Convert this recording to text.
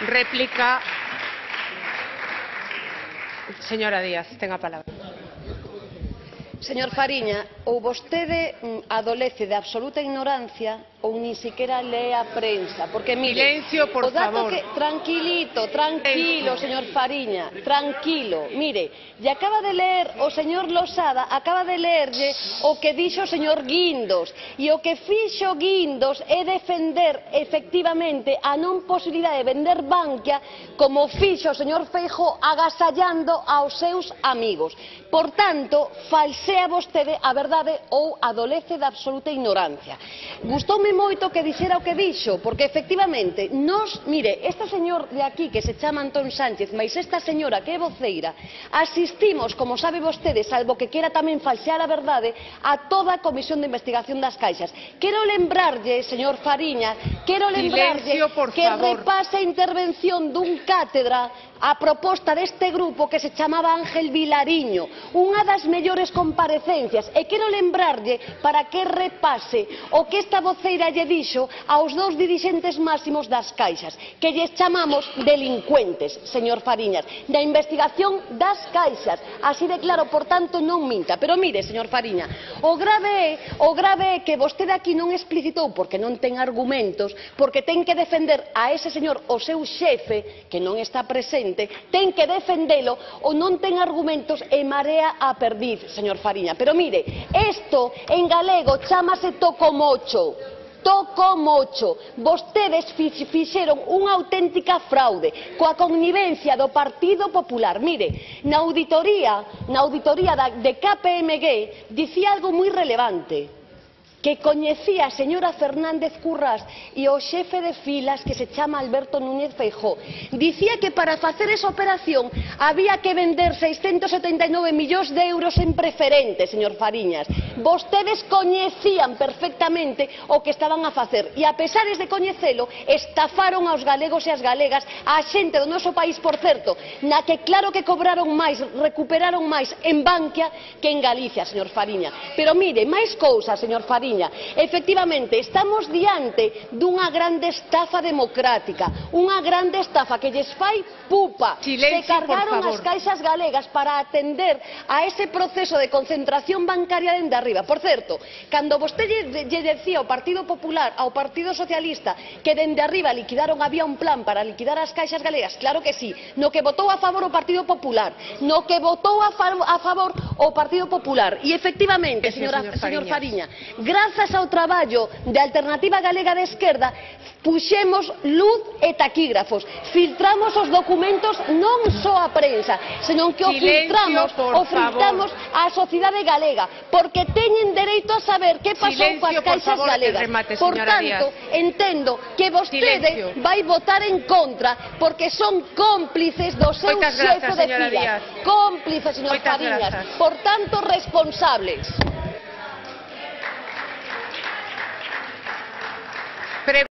Réplica. Señora Díaz, tenga a palabra. Señor Fariña, ou vostede adolece de absoluta ignorancia ou nin siquiera lee a prensa, porque mire, Silencio, por o dato favor. tranquilo, señor Fariña, tranquilo, mire, e acaba de ler o señor Losada, acaba de lerlle o que dixo o señor Guindos, e o que fixo Guindos é defender efectivamente a non posibilidade de vender Bankia como fixo o señor Feijóo agasallando aos seus amigos. Por tanto, falsea vostede a verdade ou adolece de absoluta ignorancia. Gustoume moito que dixera o que dixo, porque efectivamente, mire, este señor de aquí que se chama Antón Sánchez, mais esta señora que é voceira, asistimos, como sabe vostede, salvo que quera tamén falsear a verdade, a toda a comisión de investigación das caixas. Quero lembrarlle, señor Fariña, que repase a intervención dun cátedra a proposta deste grupo que se chamaba Ángel Vilariño, unha das mellores comparecencias, e quero lembrarlle para que repase o que esta voceira lle dixo aos dous dirixentes máximos das caixas, que lles chamamos delincuentes, señor Fariñas, da investigación das caixas, así de claro, por tanto non minta. Pero mire, señor Fariña, o grave é que vostede aquí non explicitou, porque non ten argumentos, porque ten que defender a ese señor, o seu xefe, que non está presente, ten que defendelo, ou non ten argumentos e marea a perdiz, señor Fariña. Pero mire, isto en galego chámase tocomocho. Tocomocho. Vostedes fixeron unha auténtica fraude coa connivencia do Partido Popular. Mire, na auditoría de KPMG dicía algo moi relevante, que coñecía a señora Fernández Currás e o xefe de filas que se chama Alberto Núñez Feijóo. Dicía que para facer esa operación había que vender 679 millóns de euros en preferentes, señor Fariñas. Vostedes coñecían perfectamente o que estaban a facer e, a pesares de coñecelo, estafaron aos galegos e as galegas, a xente do noso país, por certo, na que claro que cobraron máis, recuperaron máis en Bankia que en Galicia, señor Fariña. Pero mire, máis cousas, señor Fariña. Efectivamente, estamos diante dunha grande estafa democrática, unha grande estafa que lles fai pupa. Silencio, se cargaron as caixas galegas para atender a ese proceso de concentración bancaria dende arriba. Por certo, cando vostede lle decía ao Partido Popular, ao Partido Socialista, que dende arriba liquidaron, había un plan para liquidar as caixas galegas, claro que sí, no que votou a favor o Partido Popular, no que votou a favor o Partido Popular. E efectivamente, señor Fariña, grazas ao traballo de Alternativa Galega de Esquerda, puxemos luz e taquígrafos, filtramos os documentos non só a prensa, senón que o filtramos á sociedade galega, porque teñen dereito a saber que pasou coas caixas galegas. Por tanto, entendo que vostede vai votar en contra, porque son cómplices do seu xefe de filas. Cómplices, señor Fariñas, por tanto, responsables.